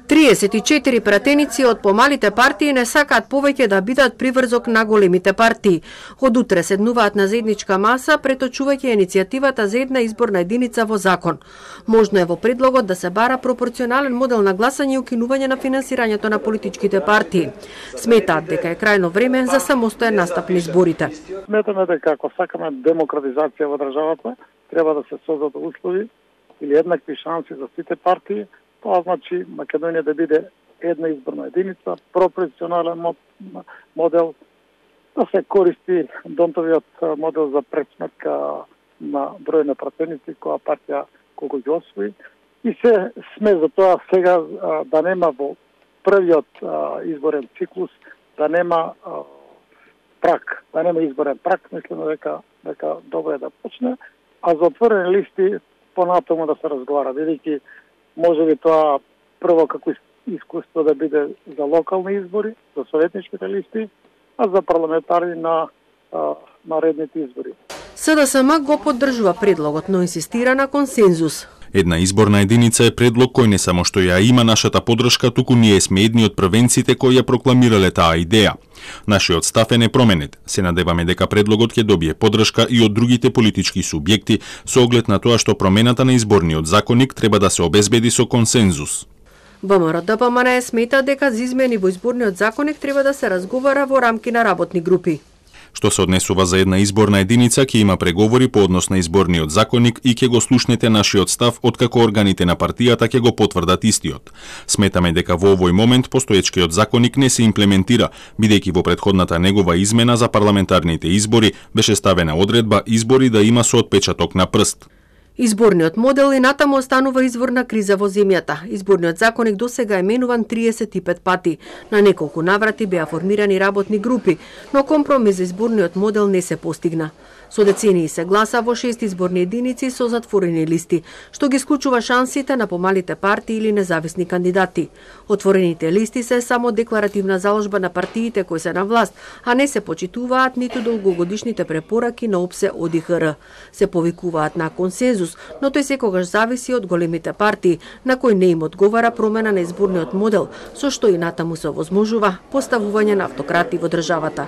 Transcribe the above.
34 пратеници од помалите партии не сакаат повеќе да бидат приврзок на големите партии. Од утре седнуваат на заедничка маса, преточувајќи иницијативата за една изборна единица во закон. Можно е во предлогот да се бара пропорционален модел на гласање и укинување на финансирањето на политичките партии. Сметаат дека е крајно време за самостоен настап на изборите. Сметаме дека ако сакаме демократизација во државата, треба да се создадат услови или еднакви шанси за сите партии. Тоа значи Македонија да биде една изборна единица, пропорционален модел, да се користи Донтовиот модел за пресметка на број на пратеници која партија колку ги освои. И се сме за тоа сега да нема во првиот изборен циклус, да нема прак, да нема изборен прак, мислиме дека добро е да почне, а за отворени листи понатаму да се разговара, бидејќи може би тоа прво како искуство да биде за локални избори, за советничките листи, а за парламентарни на наредните избори. СДСМ го поддржува предлогот, но инсистира на консензус. Една изборна единица е предлог кој не само што ја има нашата поддршка, туку ние сме едни од првенците кои ја прокламирале таа идеја. Нашиот став е непроменет. Се надеваме дека предлогот ќе добие поддршка и од другите политички субјекти со оглед на тоа што промената на изборниот законник треба да се обезбеди со консензус. ВМРО-ДПМН смета дека за измени во изборниот законник треба да се разговара во рамки на работни групи. Што се однесува за една изборна единица, ќе има преговори по однос на изборниот законник и ќе го слушнете нашиот став откако органите на партијата ќе го потврдат истиот. Сметаме дека во овој момент постоечкиот законник не се имплементира, бидејќи во претходната негова измена за парламентарните избори беше ставена одредба избори да има со отпечаток на прст. Изборниот модел и натаму останува извор на криза во земјата. Изборниот законник досега е менуван 35 пати. На неколку наврати беа формирани работни групи, но компромис за изборниот модел не се постигна. Со децении се гласа во 6 изборни единици со затворени листи, што ги исклучува шансите на помалите партии или независни кандидати. Отворените листи се само декларативна заложба на партиите кои се на власт, а не се почитуваат ниту долгогодишните препораки на ОПСЕ ОДИХР. Се повикуваат на консензус, но тој секогаш зависи од големите партии, на кои не им одговара промена на изборниот модел, со што и натаму се овозможува поставување на автократи во државата.